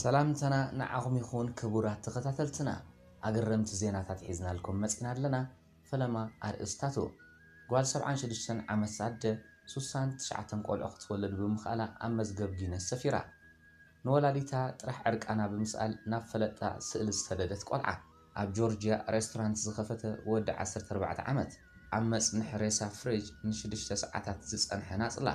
ሰላምታና ንዓኹም ይኹን ክቡራት ተኸታተልትና። ኣገረምቲ ዜናታት ሒዝናልኩም መጺና ኣለና። ፈለማ ኣርእስታቱ። ጓል ሰብዓን ሽዱሽተን ዓመት ኣደ ሱሳን ትሽዓተን ቆልዑ ክትወልድ ብምኽኣላ ኣብ መዝገብ ጊነስ ሰፊራ። ንወላዲታ ጥራሕ ዕርቃና ብምስኣል ናብ ፈለጣ ስእሊ ዝሰደደት ቆልዓ። ኣብ ጆርጅያ ሬስቶራንት ዝኸፈተ ወዲ ዓሰርተ ኣርባዕተ ዓመት። ኣብ መጽንሒ ሬሳ ፍሪጅ ንሽዱሽተ ሰዓታት ዝጸንሐ ናጽላ።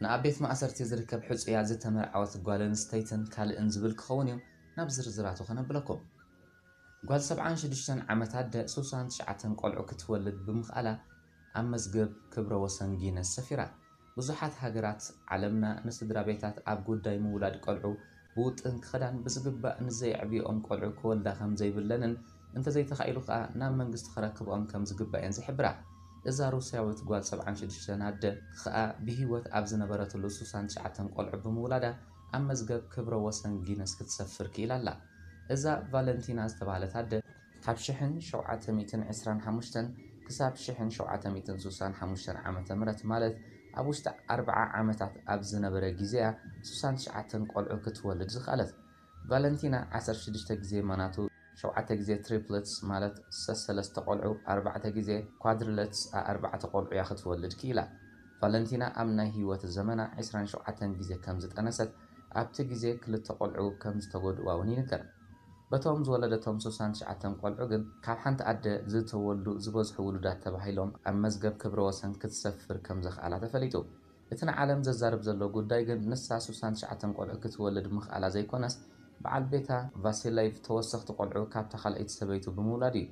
ንኣብ ቤት ማእሰርቲ ዝርከብ ሕጹያ ዝተመርዓወት ጓል ኣንስተይትን ካልእን ዝብል ክኸውን እዩ። ናብ ዝርዝራቱ ከነብለኩም። ጓል ሰብዓን ሽዱሽተን ዓመት ኣደ ሱሳን ትሽዓተን ቆልዑ ክትወልድ ብምኽኣላ ኣብ መዝገብ ክብረ ወሰን ጊነስ ሰፊራ። ብዙሓት ሃገራት ዓለምና ንስድራ ቤታት ኣብ ጉዳይ ምውላድ ቆልዑ ብውጥን ክኸዳን ብዝግባእ ንዘየዕብዮኦም ቆልዑ ክወልዳ ከም ዘይብለንን እንተዘይተኻኢሉ ከኣ ናብ መንግስቲ ክረክብኦም ከም ዝግባእ እየን ዝሕብራ። እዛ ሩስያዊት ጓል ሰብዓን ሽዱሽተን ኣደ ከኣ ብህይወት ኣብ ዝነበረትሉ ሱሳን ትሽዓተን ቆልዑ ብምውላዳ ኣብ መዝገብ ክብረ ወሰን ጊነስ ክትሰፍር ክኢላ ኣላ። እዛ ቫለንቲና ዝተባህለት ኣደ ካብ ሽሕን ሸውዓተ ሚእትን ዕስራን ሓሙሽተን ክሳብ ሽሕን ሸውዓተ ሚእትን ስሳን ሓሙሽተን ዓመተ ምህረት ማለት ኣብ ውሽጢ ኣርብዓ ዓመታት ኣብ ዝነበረ ግዜያ ሱሳን ትሽዓተን ቆልዑ ክትወልድ ዝኸኣለት። ቫለንቲና ዓሰርተ ሽዱሽተ ግዜ ማናቱ ሸውዓተ ግዜ ትሪፕለትስ ማለት ሰሰለስተ ቆልዑ ኣርባዕተ ግዜ ኳድሪለትስ ኣርባዕተ ቆልዑ እያ ክትወልድ ክኢላ። ቫለንቲና ኣብ ናይ ህይወት ዘመና ዕስራን ሸውዓተን ግዜ ከም ዝጠነሰት ኣብቲ ግዜ ክልተ ቆልዑ ከም ዝተጎድእዋ እውን ይንገር። በቶም ዝወለደቶም ስሳን ትሽዓተን ቆልዑ ግን ካብ ሓንቲ ኣደ ዝተወልዱ ዝበዝሑ ውሉዳት ተባሂሎም ኣብ መዝገብ ክብረ ወሰን ክትሰፍር ከም ዘኽኣላ ተፈሊጡ። እቲ ንዓለም ዘዛርብ ዘሎ ጉዳይ ግን ንሳ ስሳን ትሽዓተን ቆልዑ ክትወልድ ምኽኣላ ዘይኮነስ በዓል ቤታ ቫሲላይቭ ተወሰኽቲ ቆልዑ ካብታ ካልኣይቲ ሰበይቱ ብምውላድ እዩ።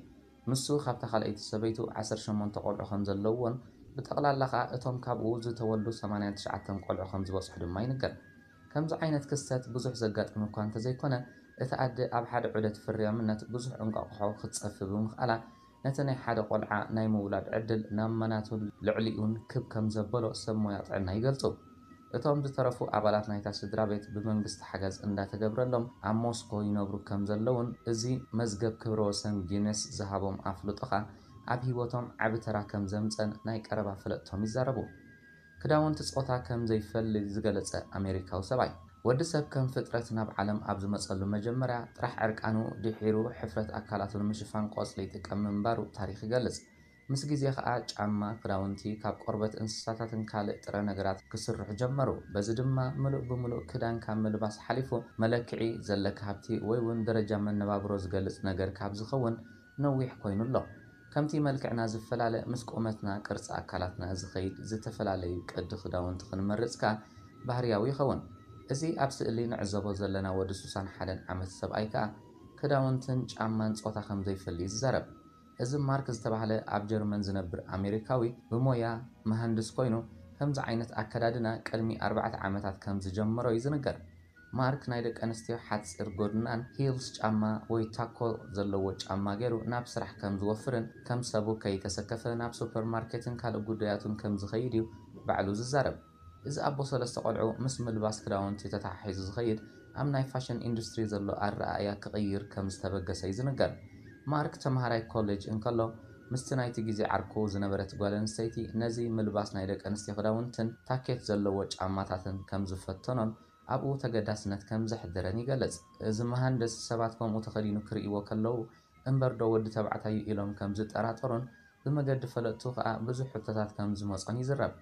ንሱ ካብታ ካልኣይቲ ሰበይቱ ዓሰርተ ሸሞንተ ቆልዑ ከም ዘለውዎን ብጠቕላላ ከኣ እቶም ካብኡ ዝተወልዱ ሰማንያን ትሽዓተን ቆልዑ ከም ዝበጽሑ ድማ ይንገር። ከምዚ ዓይነት ክስተት ብዙሕ ዘጋጥም እኳ እንተዘይኮነ፣ እታ ኣደ ኣብ ሓደ ዑደት ፍርያምነት ብዙሕ እንቋቑሖ ክትጸፊ ብምኽኣላ፣ ነቲ ናይ ሓደ ቆልዓ ናይ ምውላድ ዕድል ናብ መናቱን ልዕሊኡን ክብ ከም ዘበሎ ሰብ ሞያ ጥዕና ይገልጹ። እቶም ዝተረፉ ኣባላት ናይታ ስድራ ቤት ብመንግስቲ ሓገዝ እንዳተገብረሎም ኣብ ሞስኮ ይነብሩ ከም ዘለውን እዚ መዝገብ ክብረ ወሰን ጊነስ ዝሃቦም ኣፍልጦ ኸኣ ኣብ ህይወቶም ዓቢ ተራ ከም ዘምጸን ናይ ቀረባ ፈለጥቶም ይዛረቡ። ክዳውንቲ ጾታ ከም ዘይፈሊ ዝገለጸ ኣሜሪካዊ ሰብኣይ፣ ወዲ ሰብ ከም ፍጥረት ናብ ዓለም ኣብ ዝመጸሉ መጀመርያ ጥራሕ ዕርቃኑ፣ ድሒሩ ሕፍረት ኣካላቱ ንምሽፋን ቆጽሊ ይጥቀም ምንባሩ ታሪኽ ይገልጽ። ምስ ግዜ ኸኣ ጫማ፣ ክዳውንቲ ካብ ቆርበት እንስሳታትን ካልእ ጥረ ነገራት ክስርሑ ጀመሩ። በዚ ድማ ምሉእ ብምሉእ ክዳን ካብ ምልባስ ሓሊፉ መለክዒ ዘለካ ሃብቲ ወይ እውን ደረጃ መነባብሮ ዝገልጽ ነገር ካብ ዝኸውን ነዊሕ ኮይኑ ኣሎ። ከምቲ መልክዕና ዝፈላለ ምስ ቁመትና ቅርጺ ኣካላትና ዝኸይድ ዝተፈላለዩ ቅዲ ክዳውንቲ ክንመርጽ ከኣ ባህርያዊ ይኸውን። እዚ ኣብ ስእሊ ንዕዘቦ ዘለና ወዲ ስሳን ሓደን ዓመት ሰብኣይ ከኣ ክዳውንትን ጫማን ጾታ ከም ዘይፈሊ እዩ ዝዛረብ። እዚ ማርክ ዝተባህለ ኣብ ጀርመን ዝነብር ኣሜሪካዊ ብሞያ መሃንድስ ኮይኑ ከምዚ ዓይነት ኣከዳድና ቅድሚ ኣርባዕተ ዓመታት ከም ዝጀመሮ እዩ ዝንገር። ማርክ ናይ ደቂ ኣንስትዮ ሓጺር ጎድናን ሂልስ ጫማ ወይ ታኮ ዘለዎ ጫማ ገይሩ ናብ ስራሕ ከም ዝወፍርን ከም ሰቡ ከይተሰከፈ ናብ ሱፐርማርኬትን ካልእ ጉዳያቱን ከም ዝኸይድ እዩ ባዕሉ ዝዛረብ። እዚ ኣቦ ሰለስተ ቆልዑ ምስ ምልባስ ክዳውንቲ ተተሓሒዙ ዝኸይድ ኣብ ናይ ፋሽን ኢንዱስትሪ ዘሎ ኣረኣእያ ክቕይር ከም ዝተበገሰ እዩ ዝንገር። ማርክ ተምሃራይ ኮሌጅ እንከሎ ምስቲ ናይቲ ግዜ ዓርኩ ዝነበረት ጓል ኣንስተይቲ ነዚ ምልባስ ናይ ደቂ ኣንስትዮ ክዳውንትን ታኬት ዘለዎ ጫማታትን ከም ዝፈተኖን ኣብኡ ተገዳስነት ከም ዘሕደረን ይገልጽ። እዚ መሃንድስ ሰባት ከምኡ ተኸዲኑ ክርእይዎ ከለዉ እምበር ዶ ወዲ ተባዕታይ እዩ ኢሎም ከም ዝጠራጠሩን ብመገዲ ፈለጥቱ ከኣ ብዙሕ ሕቶታት ከም ዝመጾን ይዝረብ።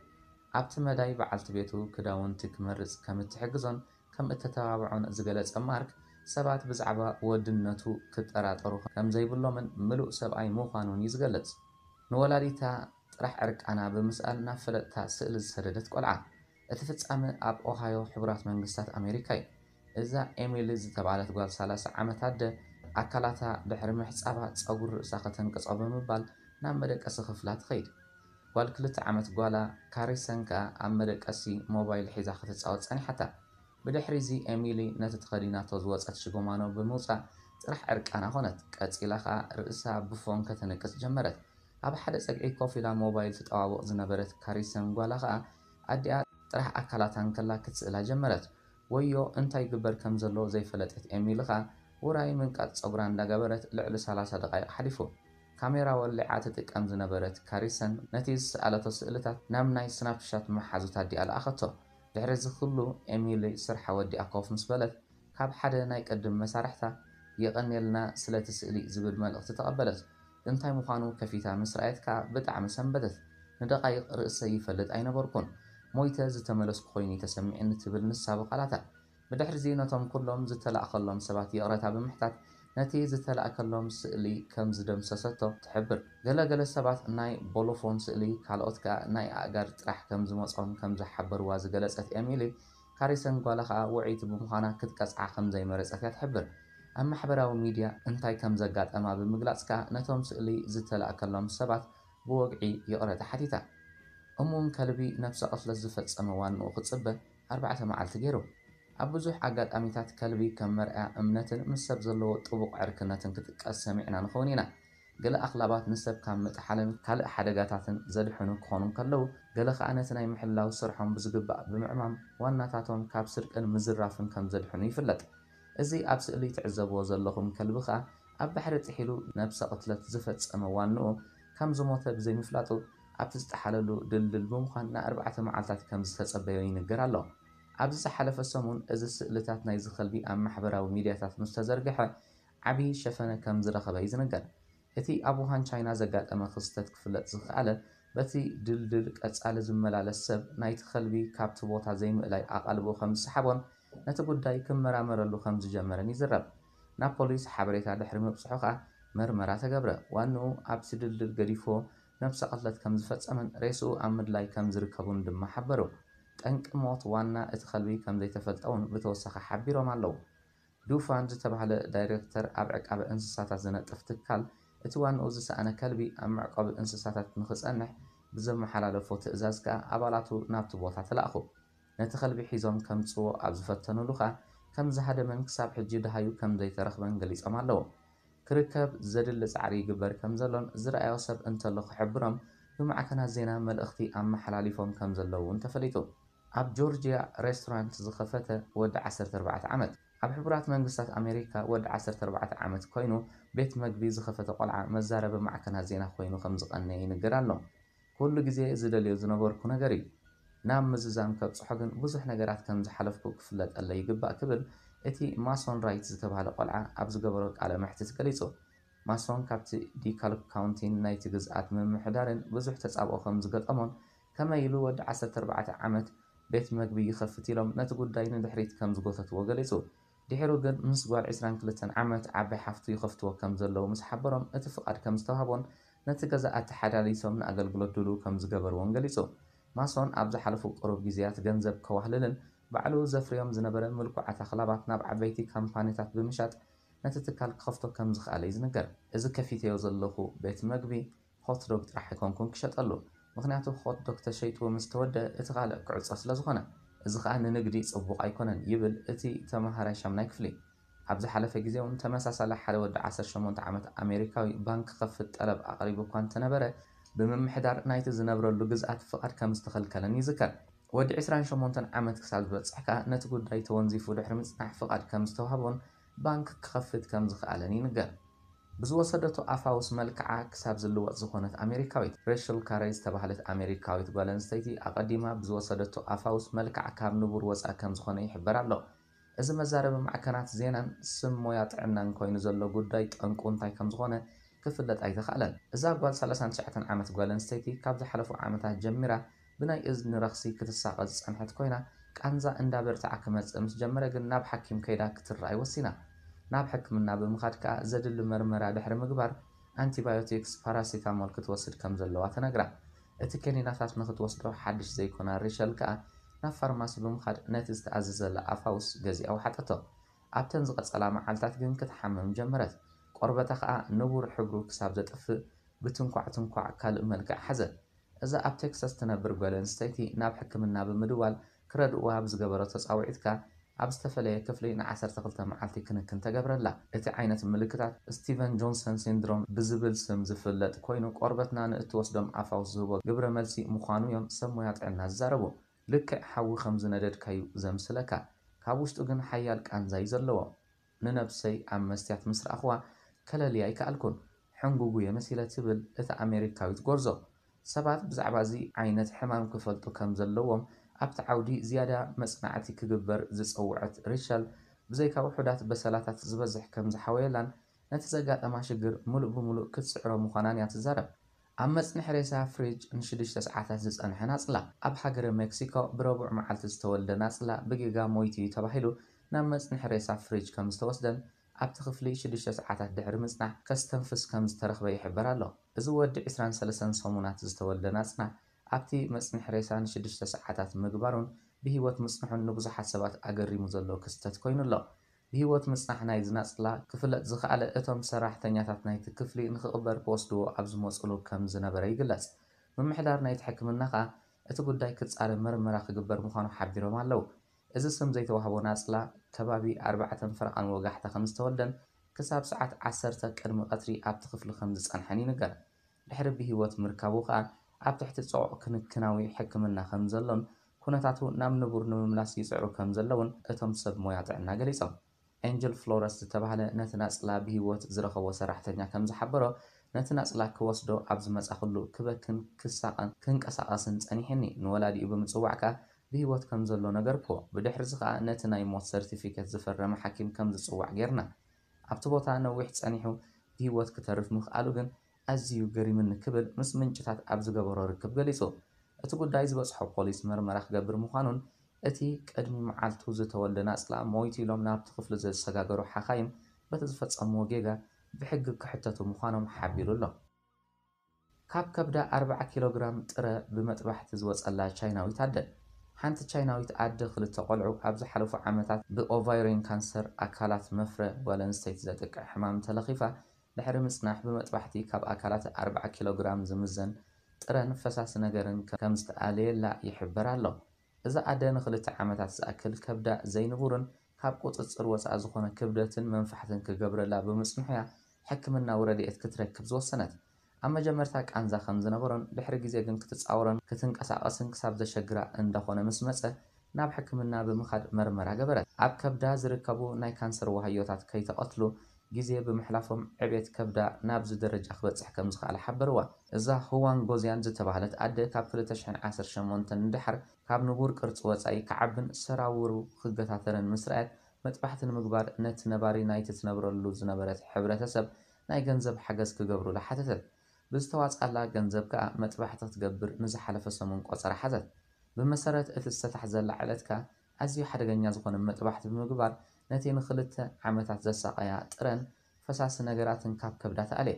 ኣብቲ መዳይ በዓልቲ ቤቱ ክዳውንቲ ክመርጽ ከም እትሕግዞን ከም እተተባብዖን ዝገለጸ ማርክ፣ ሰባት ብዛዕባ ወድነቱ ክጠራጠሩ ከም ዘይብሎምን ምሉእ ሰብኣይ ምዃኑን እዩ ዝገልጽ። ንወላዲታ ጥራሕ ዕርቃና ብምስኣል ናብ ፈለጥታ ስእሊ ዝሰደደት ቆልዓ። እቲ ፍጻመ ኣብ ኦሃዮ ሕቡራት መንግስታት ኣሜሪካ እዩ። እዛ ኤሚሊ ዝተባህለት ጓል ሰላሳ ዓመት ኣደ ኣካላታ ድሕሪ ምሕጻባ ጸጉሪ ርእሳ ከተንቅጾ ብምባል ናብ መደቀሲ ክፍላ ትኸይድ። ጓል ክልተ ዓመት ጓላ ካሪሰን ከኣ ኣብ መደቀሲ ሞባይል ሒዛ ክትጻወት ጸኒሓታ። ብድሕሪ እዚ ኤሚሊ ነቲ ተኸዲናቶ ዝወጸት ሽጎማኖ ብምውጻእ ጥራሕ ዕርቃና ኾነት። ቀጺላ ከኣ ርእሳ ብፎን ከተንቅጽ ጀመረት። ኣብ ሓደ ጸግዒ ኮፍ ኢላ ሞባይል ትጠዋውቕ ዝነበረት ካሪሰን ጓላ ከኣ ኣዲኣ ጥራሕ ኣካላታ እንከላ ክትስእላ ጀመረት። ወዮ እንታይ ይግበር ከም ዘሎ ዘይፈለጠት ኤሚሊ ከኣ ውራይ ምንቃጽ ጸጉራ እንዳገበረት ልዕሊ ሰላሳ ደቓይቕ ሓሊፉ። ካሜራ ወሊዓ ትጥቀም ዝነበረት ካሪሰን ነቲ ዝሰኣለቶ ስእልታት ናብ ናይ ስናፕሻት መሓዙት ኣዲኣ ለኣኸቶ። ድሕሪ እዚ ኩሉ ኤሚሊ ስርሓ ወዲኣ ኮፍ ምስ በለት ካብ ሓደ ናይ ቅድም መሳርሕታ፣ "የቐንየልና ስለቲ ስእሊ" ዝብል መልእኽቲ ተቐበለት። እንታይ ምዃኑ ከፊታ ምስ ረኣየት ከኣ ብጣዕሚ ሰንበደት። ንደቓይቕ ርእሰይ ይፈልጥ ኣይነበርኩን። ሞይተ ዝተመለስኩ ኮይኑ እዩ ተሰሚዕኒ ትብል ንሳ ብቓላታ። ብድሕሪዚ ነቶም ኩሎም ዝተላእከሎም ሰባት ይቕረታ ብምሕታት፣ ነቲ ዝተላእከሎም ስእሊ ከም ዝደምሰሰቶ ትሕብር። ገለ ገለ ሰባት ናይ ቦሎፎን ስእሊ፣ ካልኦት ከኣ ናይ ኣእጋር ጥራሕ ከም ዝመጾም ከም ዝሓበርዋ ዝገለጸት ኤሚሊ፣ ካሪሰን ጓላ ከኣ ውዕይቲ ብምዃና ክትቀጽዓ ከም ዘይመረጸት እያ ትሕብር። ኣብ ማሕበራዊ ሚድያ እንታይ ከም ዘጋጠማ ብምግላጽ ከኣ ነቶም ስእሊ ዝተላእከሎም ሰባት ብወግዒ ይቕረታ ሓቲታ። እሙን ከልቢ ነብሰ ቅትለት ዝፈጸመ ዋንኡ ክጽበ ኣርባዕተ መዓልቲ ገይሩ። ኣብ ብዙሕ ኣጋጣሚታት ከልቢ ከም መርኣያ እምነትን ምስ ሰብ ዘለዎ ጥቡቕ ዕርክነትን ክጥቀስ ሰሚዕና ንኸውን ኢና። ገለ ኣኽላባት ንሰብ ካብ ምጥሓልን ካልእ ሓደጋታትን ዘድሕኑ ክኾኑ እንከለዉ፣ ገለ ከኣ ነቲ ናይ ምሕላው ስርሖም ብዝግባእ ብምዕማም ዋናታቶም ካብ ስርቅን ምዝራፍን ከም ዘድሕኑ ይፍለጥ። እዚ ኣብ ስእሊ ትዕዘብዎ ዘለኹም ከልቢ ከኣ ኣብ ባሕሪ ጥሒሉ ነብሰ ቅትለት ዝፈጸመ ዋንኡ ከም ዝሞተ ብዘይምፍላጡ፣ ኣብቲ ዝጠሓለሉ ድልድል ብምዃን ንኣርባዕተ መዓልታት ከም ዝተጸበዮ ይንገር ኣሎ። ኣብዚ ዝሓለፈ ሰሙን እዚ ስእልታት ናይዚ ከልቢ ኣብ ማሕበራዊ ሚድያታት ምስ ተዘርግሐ፣ ዓቢ ሸፈነ ከም ዝረኸበ እዩ ዝንገር። እቲ ኣብ ውሃን ቻይና ዘጋጠመ ክስተት ክፍለጥ ዝኸኣለ፣ በቲ ድልድል ቀጻሊ ዝመላለስ ሰብ ናይቲ ከልቢ ካብቲ ቦታ ዘይምእላይ ኣቓልቦ ከም ዝሰሓቦን ነቲ ጉዳይ ክመራመረሉ ከም ዝጀመረን ይዝረብ። ናብ ፖሊስ ሓበሬታ ድሕሪ ምብጽሑ ከኣ መርመራ ተገብረ። ዋንኡ ኣብቲ ድልድል ገዲፍዎ ነብሰ ቅትለት ከም ዝፈጸመን ሬስኡ ኣብ ምድላይ ከም ዝርከቡን ድማ ሓበሩ። ጠንቂ ሞት ዋና እቲ ከልቢ ከም ዘይተፈልጠ እውን ብተወሳኺ ሓቢሮም ኣለዉ። ዱፋን ዝተባህለ ዳይሬክተር ኣብ ዕቃበ እንስሳታት ዝነጥፍ ትካል፣ እቲ ዋንኡ ዝሰኣነ ከልቢ ኣብ መዕቆቢ እንስሳታት ንኽጸንሕ ብዘመሓላለፎ ትእዛዝ ከኣ ኣባላቱ ናብቲ ቦታ ተላእኹ። ነቲ ከልቢ ሒዞም ከምጽዎ ኣብ ዝፈተኑሉ ከኣ ከም ዝሃደመን ክሳብ ሕጂ ደሃዩ ከም ዘይተረኽበን ገሊጾም ኣለዉ። ክርከብ ዘድሊ ጻዕሪ ይግበር ከም ዘሎን ዝረኣዮ ሰብ እንተሎ ክሕብሮም ብማዕከናት ዜና መልእኽቲ ኣመሓላሊፎም ከም ዘለዉ እውን ተፈሊጡ። ኣብ ጆርጅያ ሬስቶራንት ዝኸፈተ ወዲ ዓሰርተ ኣርባዕተ ዓመት። ኣብ ሕቡራት መንግስታት ኣሜሪካ ወዲ ዓሰርተ ኣርባዕተ ዓመት ኮይኑ ቤት መግቢ ዝኸፈተ ቆልዓ መዛረቢ ማዕከናት ዜና ኮይኑ ከም ዝቐነየ ይንገር ኣሎ። "ኩሉ ግዜ ዝደልዮ ዝነበርኩ ነገር እዩ። ናብ ምዝዛም ከብጽሖ ግን ብዙሕ ነገራት ከም ዝሓለፍኩ ክፍለጠለይ ይግባእ" ክብል እቲ ማሶን ራይት ዝተባህለ ቆልዓ ኣብ ዝገበሮ ቃለ መሕትት ገሊጹ። ማሶን ካብቲ ዲካልክ ካውንቲን ናይቲ ግዝኣት ምምሕዳርን ብዙሕ ተጻብኦ ከም ዝገጠሞን፣ ከመይ ኢሉ ወዲ ዓሰርተ ኣርባዕተ ዓመት ቤት መግቢ ይኸፍት ኢሎም ነቲ ጉዳይ ንድሕሪት ከም ዝጎተትዎ ገሊጹ። ድሒሩ ግን ምስ ጓል ዕስራን ክልተን ዓመት ዓባይ ሓፍቱ ይኸፍትዎ ከም ዘለዉ ምስ ሓበሮም እቲ ፍቓድ ከም ዝተዋህቦን ነቲ ገዛ ኣተሓላሊሶም ንኣገልግሎት ድሉው ከም ዝገበርዎን ገሊጹ። ማሶን ኣብ ዝሓለፉ ቅሩብ ግዜያት ገንዘብ ከዋህልልን ባዕሉ ዘፍርዮም ዝነበረ ምልኩዓት ኣኽላባት ናብ ዓበይቲ ካምፓኒታት ብምሻጥ ነቲ ትካል ክኸፍቶ ከም ዝኸኣለ እዩ ዝንገር። "እዚ ከፊተዮ ዘለኹ ቤት መግቢ ሆት ዶግ ጥራሕ ኣይኮንኩን ክሸጠሉ፣ ምኽንያቱ ሆት ዶግ ተሸይጡ ምስ ተወደአ እቲ ካልእ ክዕጾ ስለ ዝኾነ፣ እዚ ኸኣ ንንግዲ ጽቡቕ ኣይኮነን" ይብል እቲ ተመሃራይ ሻምናይ ክፍሊ። ኣብ ዝሓለፈ ግዜ እውን ተመሳሳሊ ሓደ ወዲ ዓሰርተ ሸሞንተ ዓመት ኣሜሪካዊ ባንክ ክኸፍት ጠለብ ኣቕሪቡ እኳ እንተነበረ፣ ብምምሕዳር ናይቲ ዝነብረሉ ግዝኣት ፍቓድ ከም ዝተኸልከለን ይዝከር። ወዲ ዕስራን ሸሞንተን ዓመት ክሳብ ዝበጽሕ ከኣ ነቲ ጉዳይ ተወንዚፉ ድሕሪ ምጽናሕ ፍቓድ ከም ዝተዋህቦን ባንክ ክኸፍት ከም ዝኸኣለን ይንገር። ብዝወሰደቶ ኣፋውስ መልክዓ ክሳብ ዝልወጥ ዝኾነት ኣሜሪካዊት፣ ሬሸል ካሬ ዝተባህለት ኣሜሪካዊት ጓል ኣንስተይቲ ኣቐዲማ ብዝወሰደቶ ኣፋውስ መልክዓ ካብ ንቡር ወጻኢ ከም ዝኾነ ይሕበር ኣሎ። እዚ መዛረቢ ማዕከናት ዜናን ስም ሞያ ጥዕናን ኮይኑ ዘሎ ጉዳይ ጠንቁ እንታይ ከም ዝኾነ ክፍለጥ ኣይተኻእለን። እዛ ጓል ሰላሳን ትሽዓተን ዓመት ጓል ኣንስተይቲ ካብ ዝሓለፉ ዓመታት ጀሚራ ብናይ እዝኒ ረኽሲ ክትሳቐ ዝጸንሐት ኮይና፣ ቃንዛ እንዳበርትዓ ክመጽእ ምስ ጀመረ ግን ናብ ሓኪም ከይዳ ክትረኣይ ወሲና። ናብ ሕክምና ብምኻድ ከኣ ዘድሊ መርመራ ድሕሪ ምግባር፣ ኣንቲባዮቲክስ ፓራሲታሞል ክትወስድ ከም ዘለዋ ተነግራ። እቲ ኬኒናታት ንክትወስዶ ሓድሽ ዘይኮና ሪሸል ከኣ ናብ ፋርማሲ ብምኻድ ነቲ ዝተኣዘዘላ ኣፋውስ ገዚኣ ወሓጠቶ። ኣብተን ዝቐጸላ መዓልታት ግን ክትሓምም ጀመረት። ቆርበታ ከኣ ንቡር ሕብሩ ክሳብ ዘጥፍእ ብትንኳዕ ትንኳዕ ካልእ መልክዕ ሓዘ። እዛ ኣብ ቴክሳስ ትነብር ጓል ኣንስተይቲ ናብ ሕክምና ብምድዋል ክረድእዋ ኣብ ዝገበረቶ ጻውዒት ከኣ ኣብ ዝተፈለየ ክፍሊ ንዓሰርተ ክልተ መዓልቲ ክንክን ተገብረላ። እቲ ዓይነት ምልክታት ስቲቨን ጆንሰን ሲንድሮም ብዝብል ስም ዝፍለጥ ኮይኑ፣ ቆርበትና ንእትወስዶም ኣፋውስ ዝህቦ ግብረ መልሲ ምዃኑ እዮም ሰብ ሞያ ጥዕና ዝዛረቡ። ልክዕ ሓዊ ከም ዝነደድካዩ ዘምስለካ፣ ካብ ውሽጡ ግን ሓያል ቃንዛ እዩ ዘለዎ። ንነብሰይ ኣብ መስትያት ምስ ረኣኽዋ ከለልያ ኣይከኣልኩን። ሕንጉጉ እየ መሲለ ትብል እታ ኣሜሪካዊት ጎርዞ። ሰባት ብዛዕባ እዚ ዓይነት ሕማም ክፈልጡ ከም ዘለዎም ኣብቲ ዓውዲ ዝያዳ መጽናዕቲ ክግበር ዝጸውዐት ሪሸል፣ ብዘይካ ውሑዳት በሰላታት ዝበዝሕ ከም ዝሓወየላን ነቲ ዘጋጠማ ሽግር ምሉእ ብምሉእ ክትስዕሮ ምዃናን እያ ትዛረብ። ኣብ መጽንሒ ሬሳ ፍሪጅ ንሽዱሽተ ሰዓታት ዝጸንሐ ናጽላ። ኣብ ሃገረ ሜክሲኮ ብረቡዕ መዓልቲ ዝተወልደ ናጽላ ብጌጋ ሞይቱ እዩ ተባሂሉ ናብ መጽንሒ ሬሳ ፍሪጅ ከም ዝተወስደን ኣብቲ ክፍሊ ሽዱሽተ ሰዓታት ድሕሪ ምጽናሕ ከስተንፍስ ከም ዝተረኽበ ይሕበር ኣሎ። እዚ ወዲ ዕስራን ሰለስተን ሰሙናት ዝተወልደ ናጽላ ኣብቲ መጽንሒ ሬሳ ንሽዱሽተ ሰዓታት ምግባሩን ብህይወት ምጽንሑን ንብዙሓት ሰባት ኣገሪሙ ዘሎ ክስተት ኮይኑ ኣሎ። ብህይወት ምጽናሕ ናይዚ ናጽላ ክፍለጥ ዝኸኣለ እቶም ሰራሕተኛታት ናይቲ ክፍሊ ንኽቕበር ክወስድዎ ኣብ ዝመጹሉ ከም ዝነበረ ይግለጽ። ምምሕዳር ናይቲ ሕክምና ከኣ እቲ ጉዳይ ክጻረ መርመራ ክግበር ምዃኑ ሓቢሮም ኣለዉ። እዚ ስም ዘይተዋህቦ ናጽላ ከባቢ ኣርባዕተን ፈረቓን ወጋሕታ ከም ዝተወልደን ክሳብ ሰዓት ዓሰርተ ቅድሚ ቀትሪ ኣብቲ ክፍሊ ከም ዝጸንሐን ይንገር። ድሕሪ ብህይወት ምርካቡ ከኣ ኣብ ትሕቲ ጽዑቕ ክንክናዊ ሕክምና ከም ዘሎን ኩነታቱ ናብ ንቡር ንምምላስ ይጽዕሩ ከም ዘለውን እቶም ሰብ ሞያ ጥዕና ገሊጾም። ኤንጀል ፍሎረስ ዝተባህለ ነቲ ናጽላ ብህይወት ዝረኸቦ ሰራሕተኛ ከም ዝሓበሮ፣ ነቲ ናጽላ ክወስዶ ኣብ ዝመጻኹሉ ክበክን ክሳቐን ክንቀሳቐስን ጸኒሕኒ። ንወላዲኡ ብምጽዋዕ ከኣ ብህይወት ከም ዘሎ ነገርክዎ። ብድሕሪ እዚ ከኣ ነቲ ናይ ሞት ሰርቲፊኬት ዝፈረመ ሓኪም ከም ዝጽዋዕ ጌርና። ኣብቲ ቦታ ነዊሕ ጸኒሑ ብህይወት ክተርፍ ምኽኣሉ ግን ኣዝዩ ገሪምኒ ክብል ምስ ምንጭታት ኣብ ዝገበሮ ርክብ ገሊጹ። እቲ ጉዳይ ዝበጽሖ ፖሊስ መርመራ ክገብር ምዃኑን እቲ ቅድሚ መዓልቱ ዝተወልደ ናጽላ ሞይቱ ኢሎም ናብቲ ክፍሊ ዘሰጋገሩ ሓኻይም በቲ ዝፈጸምዎ ጌጋ ብሕጊ ክሕተቱ ምዃኖም ሓቢሩ ኣሎ። ካብ ከብዳ ኣርባዓ ኪሎ ግራም ጥረ ብመጥባሕቲ ዝወጸላ ቻይናዊት ኣደ። ሓንቲ ቻይናዊት ኣደ ክልተ ቆልዑ ኣብ ዝሓለፉ ዓመታት ብኦቫይሪን ካንሰር ኣካላት መፍረ ጓል ኣንስተይቲ ዘጥቅዕ ሕማም ተለኺፋ ድሕሪ ምጽናሕ ብመጥባሕቲ ካብ ኣካላት ኣርባዓ ኪሎ ግራም ዝምዘን ጥረን ፈሳሲ ነገርን ከም ዝተኣለየላ ይሕበር ኣሎ። እዛ ኣደ ንኽልተ ዓመታት ዝኣክል ከብዳ ዘይንቡርን ካብ ቁጽጽር ወጻኢ ዝኾነ ክብደትን መንፋሕትን ክገብረላ ብምጽንሑ እያ ሕክምናዊ ረድኤት ክትረክብ ዝወሰነት። ኣብ መጀመርታ ቃንዛ ከም ዝነበሮን ድሕሪ ግዜ ግን ክትጻወሮን ክትንቀሳቐስን ክሳብ ዘሸግራ እንዳኾነ ምስ መጸ ናብ ሕክምና ብምኻድ መርመራ ገበረት። ኣብ ከብዳ ዝርከቡ ናይ ካንሰር ዋህዮታት ከይተቐትሉ ግዜ ብምሕላፎም ዕቤት ከብዳ ናብዚ ደረጃ ክበጽሕ ከም ዝኸኣለ ሓበርዋ። እዛ ሁዋን ጎዝያን ዝተባህለት ኣደ ካብ ክልተ ሽሕን ዓሰርተ ሸሞንተን ንደሓር ካብ ንቡር ቅርጺ ወጻኢ ክዓብን ሰራውሩ ክገታተርን ምስ ረኣየት መጥባሕቲ ንምግባር ነቲ ነባሪ ናይቲ ትነብረሉ ዝነበረት ሕብረተሰብ ናይ ገንዘብ ሓገዝ ክገብሩላ ሓተተት። ብዝተዋጽኣላ ገንዘብ ከኣ መጥባሕቲ ክትገብር ንዝሓለፈ ሰሙን ቆጸራ ሓዘት። ብመሰረት እቲ ዝተታሕዘላ ዕለት ከኣ ኣዝዩ ሓደገኛ ዝኾነ መጥባሕቲ ብምግባር ነቲ ንኽልተ ዓመታት ዘሳቐያ ጥረን ፈሳሲ ነገራትን ካብ ከብዳ ተኣልየ።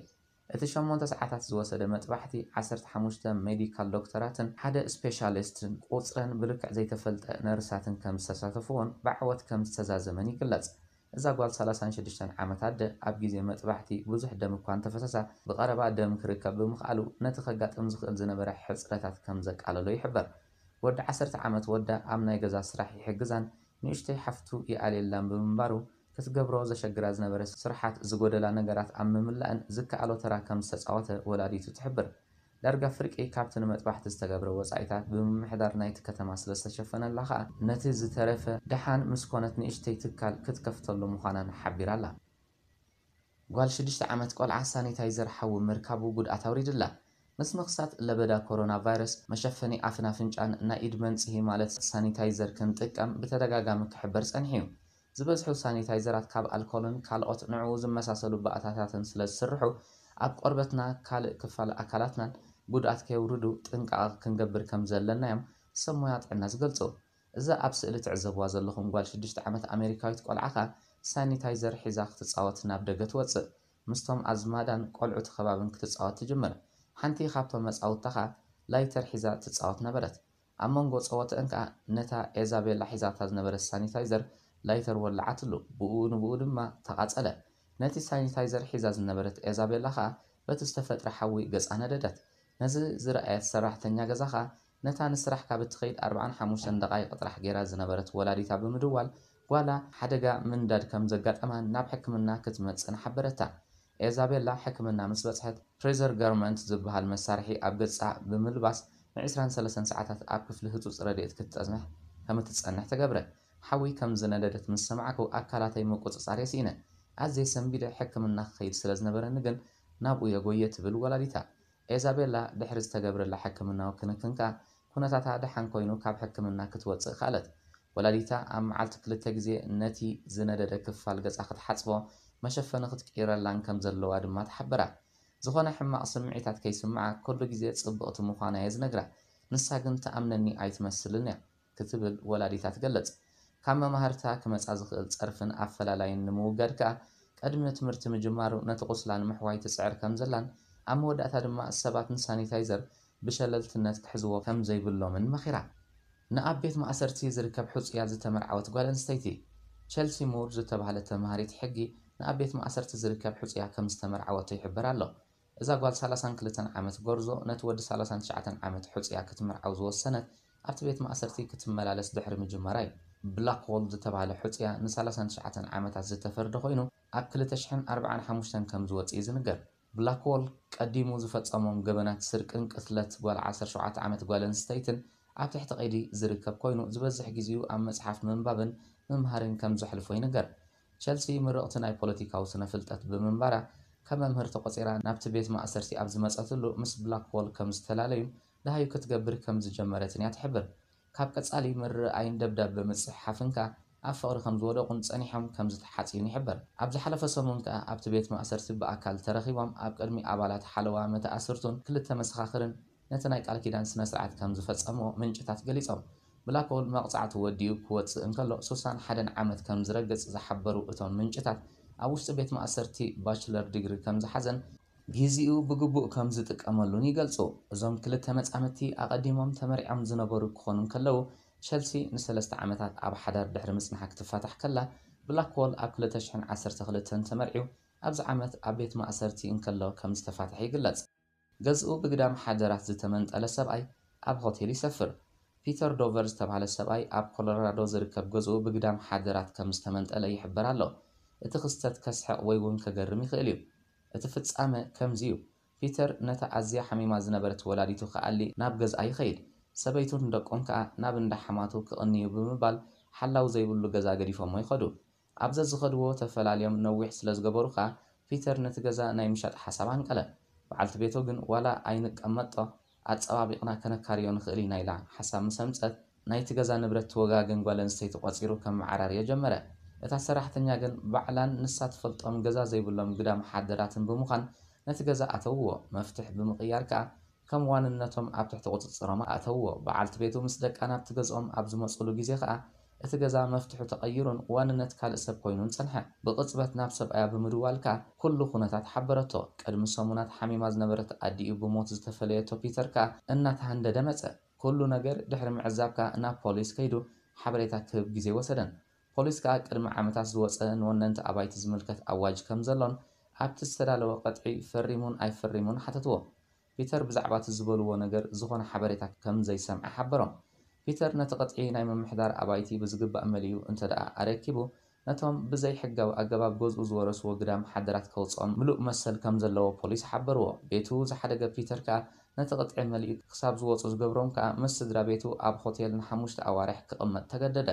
እቲ ሸሞንተ ሰዓታት ዝወሰደ መጥባሕቲ ዓሰርተ ሓሙሽተ ሜዲካል ዶክተራትን ሓደ ስፔሻሊስትን ቁጽረን ብልክዕ ዘይተፈልጠ ነርሳትን ከም ዝተሳተፍዎን ብዓወት ከም ዝተዛዘመን ይግለጽ። እዛ ጓል ሰላሳን ሽዱሽተን ዓመት ኣደ ኣብ ግዜ መጥባሕቲ ብዙሕ ደም እኳ እንተፈሰሳ ብቐረባ ደም ክርከብ ብምኽኣሉ ነቲ ከጋጥም ዝኽእል ዝነበረ ሕጽረታት ከም ዘቃለሎ ይሕበር። ወዲ ዓሰርተ ዓመት ወዳ ኣብ ናይ ገዛ ስራሕ ይሕግዛን ንእሽተይ ሓፍቱ ይኣልየላን ብምንባሩ ክትገብሮ ዘሸግራ ዝነበረ ስራሓት ዝጎደላ ነገራት ኣብ ምምላእን ዝከኣሎ ተራ ከም ዝተጻወተ ወላዲቱ ትሕብር። ዳርጋ ፍርቂ ካብቲ ንመጥባሕቲ ዝተገብረ ወጻኢታት ብምምሕዳር ናይቲ ከተማ ስለ ዝተሸፈነላ ከኣ ነቲ ዝተረፈ ደሓን ምስ ኮነት ንእሽተይ ትካል ክትከፍተሉ ምዃናን ሓቢራ ኣላ። ጓል ሽዱሽተ ዓመት ቆልዓ ሳኒታይዘር ሓዊ ምርካቡ ጉድኣት ኣውሪድላ። ምስ ምኽሳት ለበዳ ኮሮና ቫይረስ መሸፈኒ ኣፍን ኣፍንጫን ናይ ኢድ መንጽሂ ማለት ሳኒታይዘር ክንጥቀም ብተደጋጋሚ ክሕበር ጸኒሑ እዩ። ዝበዝሑ ሳኒታይዘራት ካብ ኣልኮልን ካልኦት ንዕኡ ዝመሳሰሉ ባእታታትን ስለ ዝስርሑ ኣብ ቆርበትና ካልእ ክፋል ኣካላትናን ጉድኣት ከየውርዱ ጥንቃቐ ክንገብር ከም ዘለና እዮም ሰብ ሞያ ጥዕና ዝገልጹ። እዛ ኣብ ስእሊ ትዕዘብዋ ዘለኹም ጓል ሽዱሽተ ዓመት ኣሜሪካዊት ቆልዓ ከኣ ሳኒታይዘር ሒዛ ክትጻወት ናብ ደገ ትወጽእ። ምስቶም ኣዝማዳን ቆልዑ እቲ ከባብን ክትጻወት ትጅምር። ሓንቲ ካብቶም መጻውታ ከኣ ላይተር ሒዛ ትጻወት ነበረት። ኣብ መንጎ ጸወተአን ከኣ ነታ ኤዛቤላ ሒዛታ ዝነበረት ሳኒታይዘር ላይተር ወለዓትሉ። ብኡ ንብኡ ድማ ተቓጸለ። ነቲ ሳኒታይዘር ሒዛ ዝነበረት ኤዛቤላ ከኣ በቲ ዝተፈጥረ ሓዊ ገጻ ነደደት። ነዚ ዝረኣየት ሰራሕተኛ ገዛ ከኣ ነታ ንስራሕ ካብ እትኸይድ ኣርባዓን ሓሙሽተን ደቓይቕ ጥራሕ ገይራ ዝነበረት ወላዲታ ብምድዋል ጓላ ሓደጋ ምንዳድ ከም ዘጋጠማን ናብ ሕክምና ክትመጽእን ሓበረታ። ኤዛቤላ ሕክምና ምስ በጽሐት ፍሬዘር ጋርመንት ዝበሃል መሳርሒ ኣብ ገጻ ብምልባስ ንዕስራን ሰለስተን ሰዓታት ኣብ ክፍሊ ህጹጽ ረድኤት ክትጸንሕ ከም እትጸንሕ ተገብረ። ሓዊ ከም ዝነደደት ምስ ሰማዕኩ ኣካላተይ ምቁጽጻር የስኢነ። ኣዝየ ሰንቢደ ሕክምና ክኸይድ ስለ ዝነበረኒ ግን ናብኡ የጎየ ትብል ወላዲታ። ኤዛቤላ ድሕሪ ዝተገብረላ ሕክምናዊ ክንክን ከኣ ኩነታታ ደሓን ኮይኑ ካብ ሕክምና ክትወጽእ ከኣለት። ወላዲታ ኣብ መዓልቲ ክልተ ግዜ ነቲ ዝነደደ ክፋል ገጻ ክትሓጽቦ፣ መሸፈኒ ክትቅይረላን ከም ዘለዋ ድማ ተሓበራ። ዝኾነ ሕማቕ ስምዒታት ከይስምዓ፣ ኩሉ ግዜ ጽብቕቲ ምዃና እየ ዝነግራ። ንሳ ግን ትኣምነኒ ኣይትመስልን እያ። ክትብል ወላዲታ ትገልጽ። ካብ መማህርታ ክመጻ ዝኽእል ጸርፍን ኣፈላላይን ንምውጋድ ከኣ፣ ቅድሚ ትምህርቲ ምጅማሩ ነቲ ቁስላ ንምሕዋይ ትጽዕር ከም ዘላን፣ ኣብ መወዳእታ ድማ ሰባት ንሳኒታይዘር ብሸለልትነት ክሕዝዎ ከም ዘይብሎምን መኺራ። ንኣብ ቤት ማእሰርቲ ዝርከብ ሕጹያ ዝተመርዓወት ጓል ኣንስተይቲ፣ ቸልሲ ሙር ዝተባህለት ተማሃሪት ሕጊ፣ ንኣብ ቤት ማእሰርቲ ዝርከብ ሕጹያ ከም ዝተመርዓወቶ ይሕበር ኣሎ። እዛ ጓል ሰላሳን ክልተን ዓመት ጎርዞ ነቲ ወዲ ሰላሳን ትሽዓተን ዓመት ሕጹያ ክትምርዓው ዝወሰነት ኣብቲ ቤት ማእሰርቲ ክትመላለስ ድሕሪ ምጅማራ እዩ። ብላክዎል ዝተባህለ ሕጹያ ን ሰላሳን ትሽዓተን ዓመታት ዝተፈርደ ኮይኑ ኣብ ክልተ ሽሕን ኣርባዓን ሓሙሽተን ከም ዝወጽእ እዩ ዝንገር። ብላክዎል ቀዲሙ ዝፈጸሞም ገበናት ስርቅን ቅትለት ጓል ዓሰርተ ሸውዓተ ዓመት ጓል ኣንስተይትን ኣብ ትሕቲ ቀይዲ ዝርከብ ኮይኑ ዝበዝሕ ግዜኡ ኣብ መጽሓፍ ምንባብን ምምሃርን ከም ዘሕልፎ ይንገር። ቸልሲ ምርቕቲ ናይ ፖለቲካዊ ስነ ፍልጠት ብምንባራ፣ ከም መምህር ተቖጺራ ናብቲ ቤት ማእሰርቲ ኣብ ዝመጸትሉ ምስ ብላክዎል ከም ዝተፈላለዩን ደሃዩ ክትገብር ከም ዝጀመረትን እያ ትሕብር። ካብ ቀጻሊ ምርኣይን ደብዳበ ምጽሕሓፍን ከኣ ኣብ ፍቕሪ ከም ዝወደቑን ጸኒሖም ከም ዝተሓጽዩን ይሕበር። ኣብ ዝሓለፈ ሰሙን ከኣ ኣብቲ ቤት ማእሰርቲ ብኣካል ተረኺቦም ኣብ ቅድሚ ኣባላት ሓለዋ መተኣስርቱን ክልተ መሰኻኽርን ነቲ ናይ ቃል ኪዳን ስነ ስርዓት ከም ዝፈጸምዎ ምንጭታት ገሊጾም። ብላክዎል መቕጻዕቲ ወዲኡ ክወጽእ እንከሎ ሱሳን ሓደን ዓመት ከም ዝረግጽ ዝሓበሩ እቶም ምንጭታት፣ ኣብ ውሽጢ ቤት ማእሰርቲ ባችለር ዲግሪ ከም ዝሓዘን ግዜኡ ብግቡእ ከም ዝጥቀመሉን ይገልጹ። እዞም ክልተ መጻምድቲ ኣቐዲሞም ተመርዕዮም ዝነበሩ ክኾኑ እንከለዉ፣ ቸልሲ ንሰለስተ ዓመታት ኣብ ሓዳር ድሕሪ ምጽንሓ ክትፋታሕ ከላ፣ ብላክዎል ኣብ ክልተ ሽሕን ዓሰርተ ክልተን ተመርዕዩ ኣብዚ ዓመት ኣብ ቤት ማእሰርቲ እንከሎ ከም ዝተፋትሐ ይግለጽ። ገዝኡ ብግዳም ሓደራት ዝተመንጠለ ሰብኣይ ኣብ ሆቴል ይሰፍር። ፒተር ዶቨር ዝተባህለ ሰብኣይ ኣብ ኮሎራዶ ዝርከብ ገዝኡ ብግዳም ሓደራት ከም ዝተመንጠለ ይሕበር ኣሎ። እቲ ክስተት ከስሕቕ ወይ እውን ከገርም ይኽእል እዩ። እቲ ፍጻመ ከምዚ እዩ። ፒተር ነታ ኣዝያ ሓሚማ ዝነበረት ወላዲቱ ክኣሊ ናብ ገዝኣ ይኸይድ። ሰበይቱን ደቁን ከኣ ናብ እንዳ ሓማቱ ክቕንዩ ብምባል ሓላው ዘይብሉ ገዛ ገዲፎሞ ይኸዱ። ኣብ ዘዝኸድዎ ተፈላልዮም ነዊሕ ስለ ዝገበሩ ከኣ፣ ፒተር ነቲ ገዛ ናይ ምሻጥ ሓሳብ ኣንቀለ። በዓልቲ ቤቱ ግን ዋላ ኣይንቀመጦ፣ ኣጸባቢቕና ከነካርዮ ንኽእል ኢና ኢላ ሓሳብ ምስ ኣምጸት፣ ናይቲ ገዛ ንብረት ትወጋገን ጓል ኣንስተይቲ ቆጺሩ ከመዓራርዮ ጀመረ። እታ ሰራሕተኛ ግን ባዕላን ንሳ ትፈልጦም ገዛ ዘይብሎም ግዳም ሓደራትን ብምዃን ነቲ ገዛ ኣተውዎ። መፍትሕ ብምቕያር ከኣ ከም ዋንነቶም ኣብ ትሕቲ ቁጽጽሮም ኣእተውዎ። በዓልቲ ቤቱ ምስ ደቃ ናብቲ ገዝኦም ኣብ ዝመጹሉ ግዜ ከኣ እቲ ገዛ መፍትሑ ተቐይሩን ዋንነት ካልእ ሰብ ኮይኑን ጸንሐ። ብቕጽበት ናብ ሰብኣያ ብምድዋል ከኣ ኩሉ ኩነታት ሓበረቶ። ቅድሚ ሰሙናት ሓሚማ ዝነበረት ኣዲኡ ብሞት ዝተፈለየቶ ፒተር ከኣ እናተሃንደደ መጸ። ኩሉ ነገር ድሕሪ ምዕዛብ ከኣ ናብ ፖሊስ ከይዱ ሓበሬታ ክህብ ግዜ ወሰደን። ፖሊስ ከኣ ቅድሚ ዓመታት ዝወጸ ንወነንቲ ኣባይቲ ዝምልከት ኣዋጅ ከም ዘሎን ኣብቲ ዝተዳለወ ቅጥዒ ፈሪሙን ኣይፈሪሙን ሓተትዎ። ፒተር ብዛዕባ እቲ ዝበልዎ ነገር ዝኾነ ሓበሬታ ከም ዘይሰምዐ ሓበሮም። ፒተር ነቲ ቅጥዒ ናይ ምምሕዳር ኣባይቲ ብዝግባእ መሊኡ እንተ ደኣ ኣረኪቡ፣ ነቶም ብዘይ ሕጋዊ ኣገባብ ገዝኡ ዝወረስዎ ግዳም ሓደራት ከውጽኦም ምሉእ መሰል ከም ዘለዎ ፖሊስ ሓበርዎ። ቤቱ ዝሓደገ ፒተር ከኣ ነቲ ቅጥዒ መሊኡ ክሳብ ዝወጹ ዝገብሮም ከኣ ምስ ስድራ ቤቱ ኣብ ሆቴል ንሓሙሽተ ኣዋርሕ ክቕመጥ ተገደደ።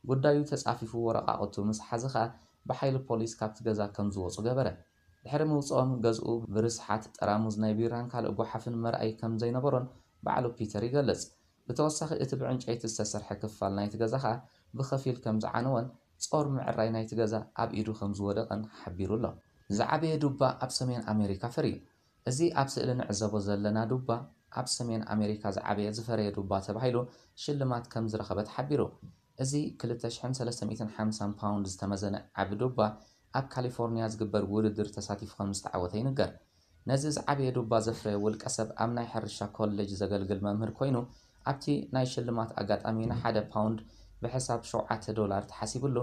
ጉዳዩ ተጻፊፉ ወረቓቕቱ ምስ ሓዘ ከኣ ብሓይሊ ፖሊስ ካብቲ ገዛ ከም ዝወጹ ገበረ። ድሕሪ ምውጽኦም ገዝኡ ብርስሓት ጠራሙዝ ናይ ቢራን ካልእ ጓሓፍን መርኣይ ከም ዘይነበሮን ባዕሉ ፒተር ይገልጽ። ብተወሳኺ እቲ ብዕንጨይቲ ዝተሰርሐ ክፋል ናይቲ ገዛ ከኣ ብኸፊል ከም ዝዓነወን ጾር ምዕራይ ናይቲ ገዛ ኣብ ኢዱ ከም ዝወደቐን ሓቢሩ ኣሎ። ዝዓበየ ዱባ ኣብ ሰሜን ኣሜሪካ ፈርዩ። እዚ ኣብ ስእሊ ንዕዘቦ ዘለና ዱባ ኣብ ሰሜን ኣሜሪካ ዝዓበየ ዝፈረየ ዱባ ተባሂሉ ሽልማት ከም ዝረኸበ ተሓቢሩ። እዚ ክልተ ሽሕን ሰለስተ ሚእትን ሓምሳን ፓውንድ ዝተመዘነ ዓቢ ዱባ ኣብ ካሊፎርኒያ ዝግበር ውድድር ተሳቲፉ ከም ዝተዓወተ ይንገር። ነዚ ዝዓበየ ዱባ ዘፍረየ ውልቀ ሰብ ኣብ ናይ ሕርሻ ኮሌጅ ዘገልግል መምህር ኮይኑ ኣብቲ ናይ ሽልማት ኣጋጣሚ ንሓደ ፓውንድ ብሕሳብ ሸውዓተ ዶላር ተሓሲብሉ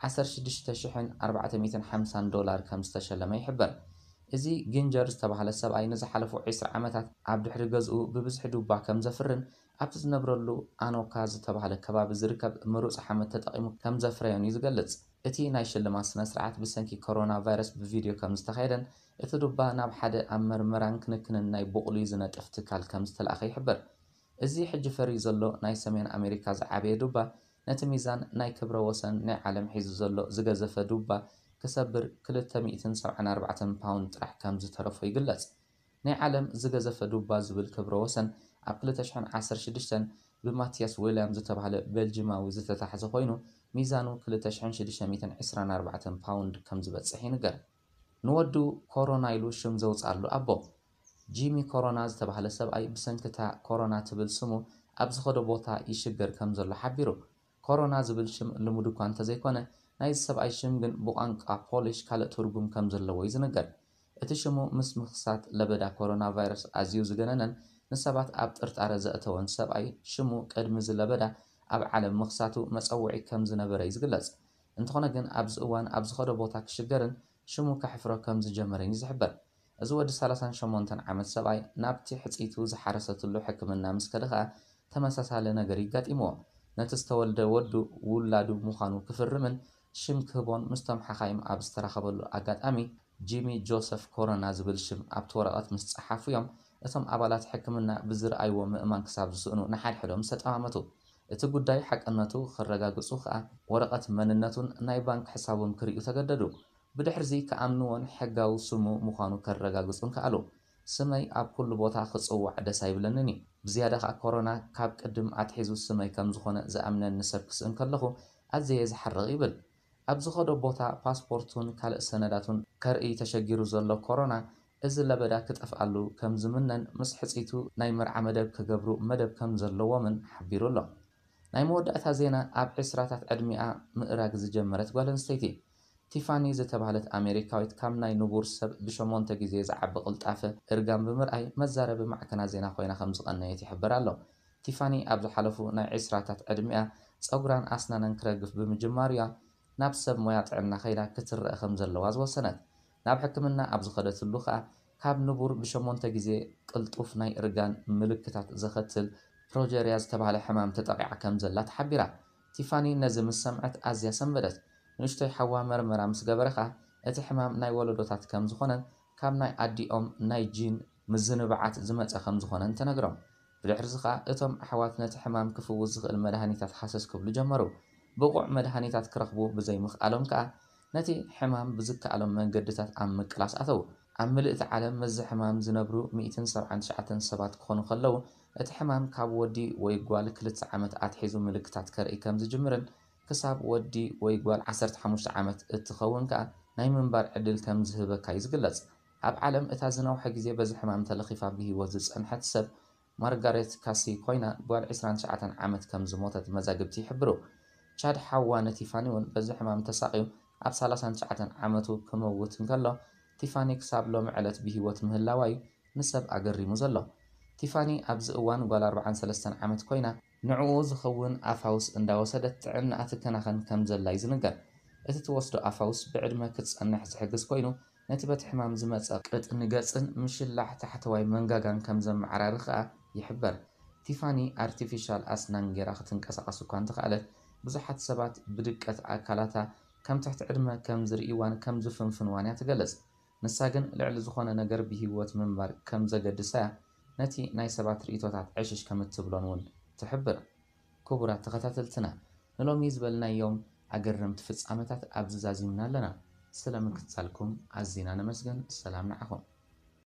ዓሰርተ ሽዱሽተ ሽሕን ኣርባዕተ ሚእትን ሓምሳን ዶላር ከም ዝተሸለመ ይሕበር። እዚ ጊንጀር ዝተባህለ ሰብኣይ ንዝሓለፉ ዕስራ ዓመታት ኣብ ድሕሪ ገዝኡ ብብዝሒ ዱባ ከም ዘፍርን ኣብቲ ዝነብረሉ ኣኖካ ዝተባህለ ከባቢ ዝርከብ ምሩጽ ሓመድ ተጠቒሙ ከም ዘፍረዮን እዩ ዝገልጽ። እቲ ናይ ሽልማት ስነ ስርዓት ብሰንኪ ኮሮና ቫይረስ ብቪድዮ ከም ዝተኻየደን እቲ ዱባ ናብ ሓደ ኣብ መርመራን ክንክንን ናይ ቡቕሊ ዝነጥፍ ትካል ከም ዝተላእኸ ይሕበር። እዚ ሕጂ ፈርዩ ዘሎ ናይ ሰሜን ኣሜሪካ ዝዓበየ ዱባ ነቲ ሚዛን ናይ ክብረ ወሰን ናይ ዓለም ሒዙ ዘሎ ዝገዘፈ ዱባ ክሰብር ክልተ ሚእትን ሰብዓን ኣርባዕተን ፓውንድ ጥራሕ ከም ዝተረፎ ይግለጽ። ናይ ዓለም ዝገዘፈ ዱባ ዝብል ክብረ ወሰን ኣብ ክልተ ሽሕን ዓሰርተ ሽዱሽተን ብማቲያስ ዊልያም ዝተባህለ ቤልጂማዊ ዝተታሕዘ ኮይኑ፣ ሚዛኑ ክልተ ሽሕን ሽዱሽተ ሚእትን ዕስራን ኣርባዕተን ፓውንድ ከም ዝበጽሕ ይንገር። ንወዱ ኮሮና ኢሉ ሽም ዘውፅኣሉ ኣቦ፣ ጂሚ ኮሮና ዝተባህለ ሰብኣይ ብሰንኪ እታ ኮሮና ትብል ስሙ ኣብ ዝኸዶ ቦታ ይሽገር ከም ዘሎ ሓቢሩ። ኮሮና ዝብል ሽም ልሙድ እኳ እንተዘይኮነ፣ ናይዚ ሰብኣይ ሽም ግን ብቋንቋ ፖሊሽ ካልእ ትርጉም ከም ዘለዎ እዩ ዝንገር። እቲ ሽሙ ምስ ምኽሳት ለበዳ ኮሮና ቫይረስ ኣዝዩ ዝገነነን ንሰባት ኣብ ጥርጣረ ዘእተወን ሰብኣይ ሽሙ ቅድሚ እዚ ለበዳ ኣብ ዓለም ምኽሳቱ መጸውዒ ከም ዝነበረ እዩ ዝግለጽ። እንተኾነ ግን ኣብዚ እዋን ኣብ ዝኸዶ ቦታ ክሽገርን ሽሙ ከሕፍሮ ከም ዝጀመረን እዩ ዝሕበር። እዚ ወዲ ሰላሳን ሸሞንተን ዓመት ሰብኣይ ናብቲ ሕጽይቱ ዝሓረሰትሉ ሕክምና ምስ ከደ ኸኣ ተመሳሳሊ ነገር ይጋጢምዎ። ነቲ ዝተወልደ ወዱ ውላዱ ምዃኑ ክፍርምን ሽም ክህቦን ምስቶም ሓኻይም ኣብ ዝተራኸበሉ ኣጋጣሚ ጂሚ ጆሰፍ ኮሮና ዝብል ሽም ኣብቲ ወረቐት ምስ ጸሓፉ እዮም እቶም ኣባላት ሕክምና ብዝረኣይዎ ምእማን ክሳብ ዝስእኑ ንሓድሕዶም ዝተጠማመቱ። እቲ ጉዳይ ሓቅነቱ ክረጋግጹ ከኣ ወረቐት መንነቱን ናይ ባንክ ሕሳቡን ክርእዩ ተገደዱ። ብድሕርዚ ክኣምንዎን ሕጋዊ ስሙ ምዃኑ ከረጋግጹን ከኣሉ። ስመይ ኣብ ኩሉ ቦታ ክጽዋዕ ደስ ኣይብለንን እዩ። ብዝያዳ ከኣ ኮሮና ካብ ቅድም ኣትሒዙ ስመይ ከም ዝኾነ ዝኣምነኒ ሰብ ክስእን ከለኹ ኣዝየ ዝሓርቕ ይብል። ኣብ ዝኸዶ ቦታ ፓስፖርቱን ካልእ ሰነዳቱን ከርኢ ተሸጊሩ ዘሎ ኮሮና እዚ ለበዳ ክጠፍኣሉ ከም ዝምነን ምስ ሕጽይቱ ናይ መርዓ መደብ ክገብሩ መደብ ከም ዘለዎምን ሓቢሩ ኣሎ። ናይ መወዳእታ ዜና ኣብ ዕስራታት ዕድሚኣ ምእራግ ዝጀመረት ጓል ኣንስተይቲ ቲፋኒ ዝተባህለት ኣሜሪካዊት ካብ ናይ ንቡር ሰብ ብሸሞንተ ግዜ ዝዓቢ ቅልጣፈ እርጋን ብምርኣይ መዛረቢ ማዕከናት ዜና ኮይና ከም ዝቐነየት ይሕበር ኣሎ። ቲፋኒ ኣብ ዝሓለፉ ናይ ዕስራታት ዕድሚኣ ጸጉራን ኣስናናን ክረግፍ ብምጅማሩ እያ ናብ ሰብ ሞያ ጥዕና ከይዳ ክትረአ ከም ዘለዋ ዝወሰነት። ናብ ሕክምና ኣብ ዝኸደትሉ ከኣ ካብ ንቡር ብሸሞንተ ግዜ ቅልጡፍ ናይ እርጋን ምልክታት ዘኸትል ፕሮጀርያ ዝተባህለ ሕማም ተጠቒዓ ከም ዘላ ተሓቢራ። ቲፋኒ ነዚ ምስ ሰምዐት ኣዝያ ሰንበደት። ንእሽቶይ ሓዋ መርመራ ምስ ገበረ ከኣ እቲ ሕማም ናይ ወለዶታት ከም ዝኾነን ካብ ናይ ኣዲኦም ናይ ጂን ምዝንባዓት ዝመጸ ከም ዝኾነን ተነግሮም። ብድሕርዚ ከኣ እቶም ኣሕዋት ነቲ ሕማም ክፍውስ ዝኽእል መድሃኒታት ሃሰስ ክብሉ ጀመሩ። ብቑዕ መድሃኒታት ክረኽቡ ብዘይምኽኣሎም ከኣ ነቲ ሕማም ብዝከኣሎም መንገድታት ኣብ ምቅላስ ኣተዉ። ኣብ ምልእቲ ዓለም ምስዚ ሕማም ዝነብሩ ሚእትን ሰብዓን ትሽዓተን ሰባት ክኾኑ ከለዉ እቲ ሕማም ካብ ወዲ ወይ ጓል ክልተ ዓመት ኣትሒዙ ምልክታት ከርኢ ከም ዝጅምርን ክሳብ ወዲ ወይ ጓል ዓሰርተ ሓሙሽተ ዓመት እትኸውን ከኣ ናይ ምንባር ዕድል ከም ዝህበካ እዩ ዝግለጽ። ኣብ ዓለም እታ ዝነውሐ ግዜ በዚ ሕማም ተለኺፋ ብህይወት ዝጸንሐት ሰብ ማርጋሬት ካሲ ኮይና ጓል ዕስራን ትሽዓተን ዓመት ከም ዝሞተት መዛግብቲ ይሕብሩ። ቻድ ሓዋ ንቲፋኒ እውን በዚ ሕማም ተሳቕዩ ኣብ ሰላሳን ትሽዓተን ዓመቱ ክመውት እንከሎ ቲፋኒ ክሳብ ሎሚ ዕለት ብህይወት ምህላዋ እዩ ንሰብ ኣገሪሙ ዘሎ። ቲፋኒ ኣብዚ እዋን ጓል ኣርባዓን ሰለስተን ዓመት ኮይና ንዕኡ ዝኸውን ኣፋውስ እንዳወሰደት ጥዕናኣ ትከናኸን ከም ዘላ እዩ ዝንገር። እቲ ትወስዶ ኣፋውስ ብዕድመ ክትጸንሕ ዝሕግዝ ኮይኑ ነቲ በቲ ሕማም ዝመጸ ቅጥኒ ገጽን ምሽላሕ ታሕተዋይ መንጋጋን ከም ዘመዓራሪ ከኣ ይሕበር። ቲፋኒ ኣርቲፊሻል ኣስናን ጌራ ክትንቀሳቐስ እኳ እንተኸኣለት ብዙሓት ሰባት ብድቀት ኣካላታ ከም ትሕቲ ዕድመ ከም ዝርእይዋን ከም ዝፍንፍንዋን እያ ትገልጽ። ንሳ ግን ልዕሊ ዝኾነ ነገር ብህይወት ምንባር ከም ዘገድሳ እያ ነቲ ናይ ሰባት ርእይቶታት ዕሽሽ ከም እትብሎን እውን ትሕብር። ክቡራት ተኸታተልትና ንሎሚ ዝበልናዮም ኣገረምቲ ፍጻመታት ኣብዚ ዛዚምና ኣለና። ስለ ምክትታልኩም ኣዚና ነመስግን። ሰላም ንዓኹም።